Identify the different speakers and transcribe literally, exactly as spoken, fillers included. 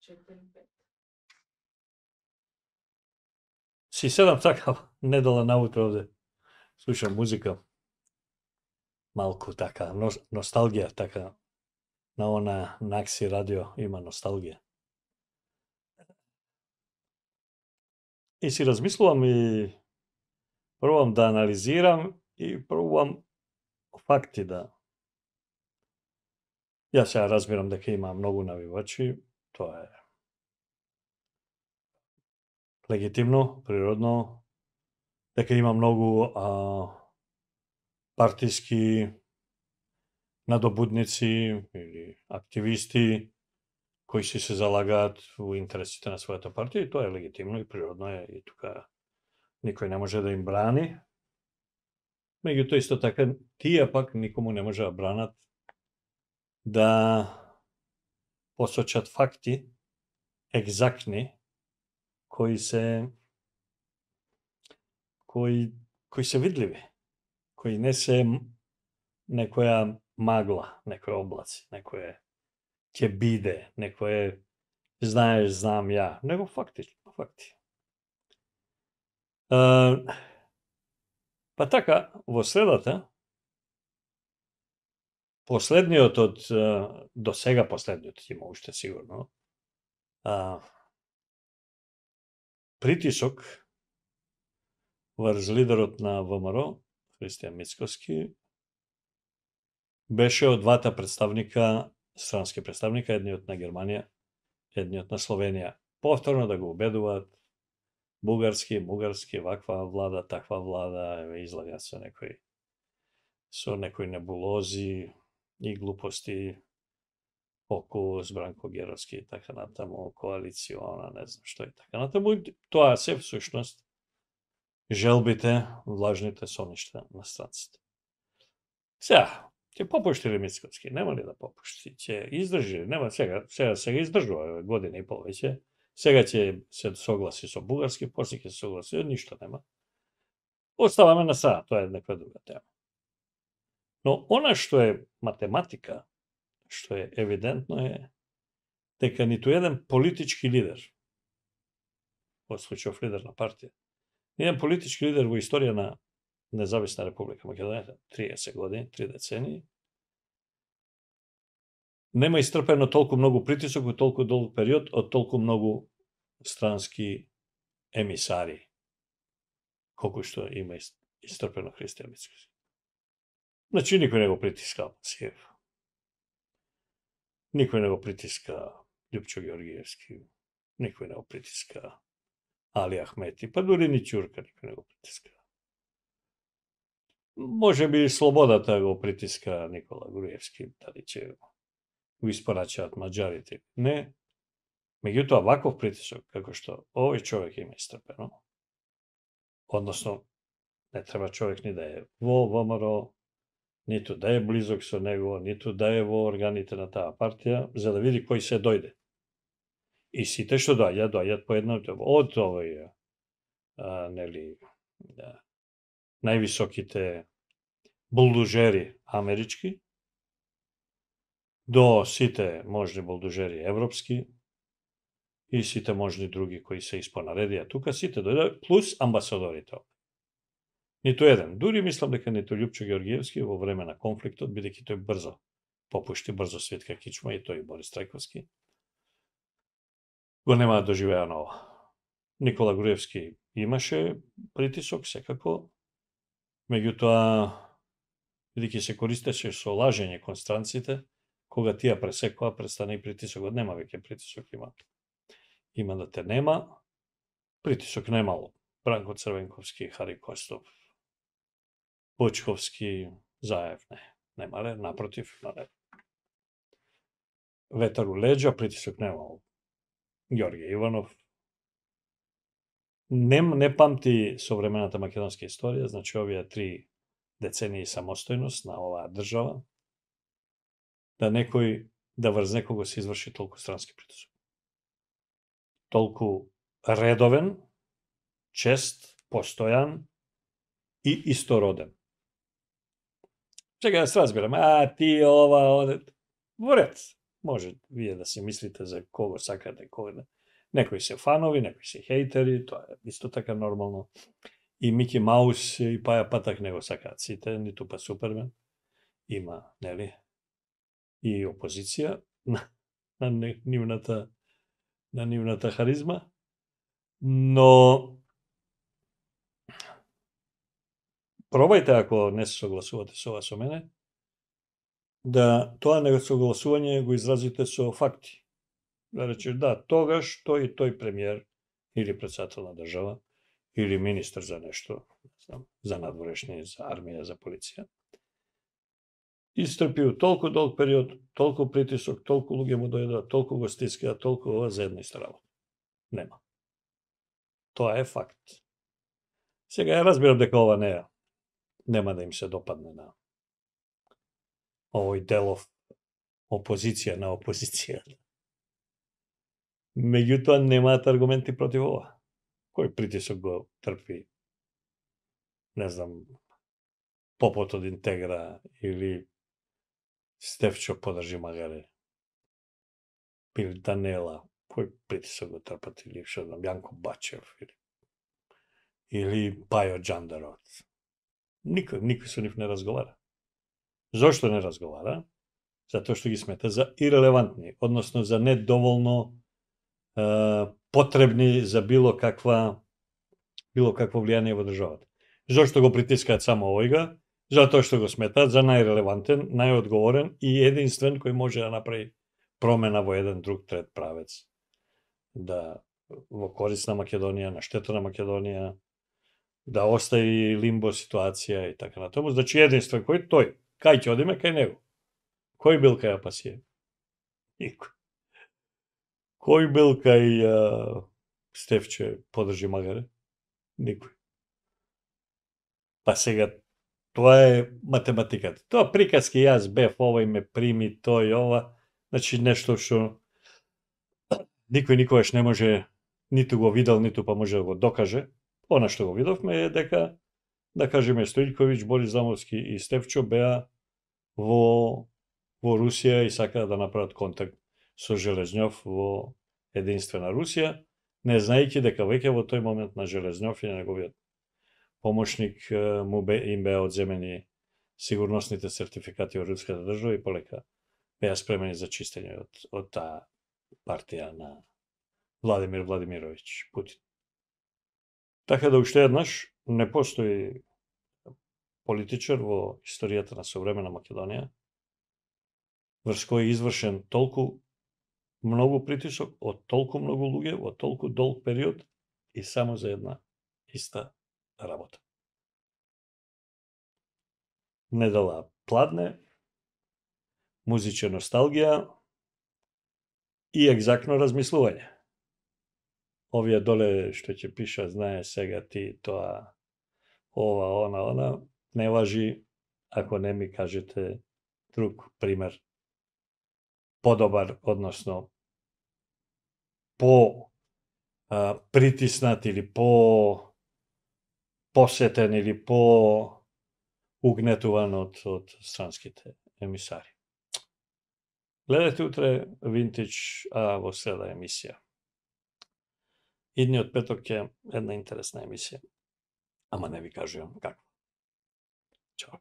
Speaker 1: четири пет.
Speaker 2: Си седам така недела наутро овде. Слушам музика. Малку така, носталгија така. На она Накси радио има носталгија. И си размислувам и пробувам да анализирам и пробувам факти да. Јас сега разбирам дека има многу навивачи, тоа е легитимно, природно, дека има многу а, партиски надобудници или активисти кои си се залагаат во интересите на својата партија и тоа е легитимно и природно е и тука никој не може да им брани. Меѓутоа исто така тие пак никому не може да бранат да посочат факти екзактни кои се кои кои се видливи, кои не се некоја магла, некој облаци, некој ќе биде, некој знаеш, знам ја, него факти, факти. А, па така, во средата, последниот од, до сега последниот, има уште сигурно, а, притисок врз лидерот на ВМРО, Христијан Мицкоски, беше од двата представника, странски представника, едниот на Германија, едниот на Словенија, повторно да го убедуваат бугарски, бугарски, ваква влада, таква влада, еве излагаат со некои со некои небулози и глупости околу Бранко Геровски и така натаму, коалициона, не знам што и така натаму. Тоа се всушност желбите, влажните соништа на странците. Сега, ќе попушти ли Мицкоски? Нема ли да попушти? Ќе издржи? Нема сега, сега сега издржува година и пол веќе. Сега ќе се согласи со бугарски, после ќе се согласи, ништо нема. Оставаме на страна, тоа е некоја друга тема. Но она што е математика, што е евидентно е дека ниту еден политички лидер, во случајов лидер на партија, еден политички лидер во историја на Независна република Македонија, триесет години, три децении, нема истрпено толку многу притисок во толку долг период од толку многу странски емисари, колку што има истрпено Христијан Мицкоски. Значи, никој не го притиска Алпасиев. Никој не го притиска Љупчо Георгиевски. Никој не го притиска Али Ахмети. Па дури ни Ќурка никој не го притиска. Може би слободата го притиска Никола Груевски, дали ќе го испорачаат маđарите. Не. Меѓутоа, ваков притисок, како што овој човек има истрпено, односно, не треба човек ни да е во ВМРО, ниту да е близок со него, ниту да е во органите на таа партија, за да види кој се дојде. И сите што доаѓаат, доаѓаат по една од овој, а, нели, да, највисоките булдужери амерички, до сите можни булдужери европски и сите можни други кои се испонаредија тука, сите дојдат, плюс амбасадорите. Ниту еден. Дури мислам дека ниту Љупчо Георгиевски во време на конфликтот, бидејќи тој брзо попушти, брзо Светка Кичма и тој Борис Трајковски, го нема да доживеа ново. Никола Груевски имаше притисок, секако, меѓутоа, бидејќи се користеше со лажење кон странците, кога тие пресекоа, престане и притисокот, нема веќе притисок, има. Има да те нема. Притисок немало. Бранко Црвенковски, Хари Костов, Почковски, Заев, не, немале, напротив, мале. Ветар у леđа, притисок немало. Ѓорѓе Иванов. Не, не памти современата македонска историја, значи овие три децении самостојност на оваа држава, да некој, да врз некого се изврши толку странски притисок. Толку редовен, чест, постојан и истороден. Чека да се разбираме, а ти ова, оде, во ред, Може вие да си мислите за кого сакате, кого не. Некои се фанови, некои се хейтери, тоа е исто така нормално. И Мики Маус и Паја Патак не го сакаат сите, ниту па Супермен. Има, нели? И опозиција на, на нивната на нивната харизма, но пробајте ако не се согласувате со ова со мене, да тоа несогласување го изразите со факти. Да речеш, да, тогаш тој и тој премиер или председател на држава или министр за нешто, не знам, за надворешни, за армија, за полиција, истрпиу толку долг период, толку притисок, толку луѓе му дојдоа, толку го стискаа, толку ова за една иста работа. Нема. Тоа е факт. Сега ја разбирам дека ова не е, нема да им се допадне на овој делов опозиција на опозиција. Меѓутоа немаат аргументи против ова. Кој притисок го трпи, не знам, попот од Интегра или Стефчо подржи Магаре, или Данела, кој притисок го трпат, или што знам, Јанко Бачев, или, или Пајо Джандарот. Никој, никој со нив не разговара. Зошто не разговара? Затоа што ги смета за ирелевантни, односно за недоволно е, потребни за било каква било какво влијание во државата. Зошто го притискаат само овојга? Затоа што го сметаат за најрелевантен, најодговорен и единствен кој може да направи промена во еден друг трет правец. Да во корист на Македонија, на штета на Македонија, да остави лимбо ситуација и така натаму. Значи единствен кој тој. Кај ќе одиме кај него? Кој бил кај Апасиев? Никој. Кој бил кај а, Стефче подржи Магаре? Никој. Па сега, тоа е математиката. Тоа приказки, јас бев, овој ме прими, тој, ова, значи нешто што никој никогаш не може, ниту го видел, ниту па може да го докаже. Она што го видовме е дека, да кажеме, Стојковиќ, Борис Замовски и Стефчо беа во, во Русија и сакаа да направат контакт со Железнјов во единствена Русија, не знаејќи дека веќе во тој момент на Железнјов и на неговиот помошник му бе, им беа одземени сигурносните сертификати од руската држава и полека беа спремени за чистење од, од таа партија на Владимир Владимировиќ Путин. Така да уште еднаш не постои политичар во историјата на современа Македонија врз кој е извршен толку многу притисок од толку многу луѓе во толку долг период и само за една иста работа. Недела пладне, музичка носталгија и екзактно размислување. Овие доле што ќе пиша, знае сега ти тоа, ова, она, она, не важи ако не ми кажете друг пример, подобар, односно по а, притиснат или по посетен или по угнетуван од, од странските емисари. Гледате утре Винтидж, а во среда емисија. Идниот петок е една интересна емисија, ама не ви кажувам каква. Чао.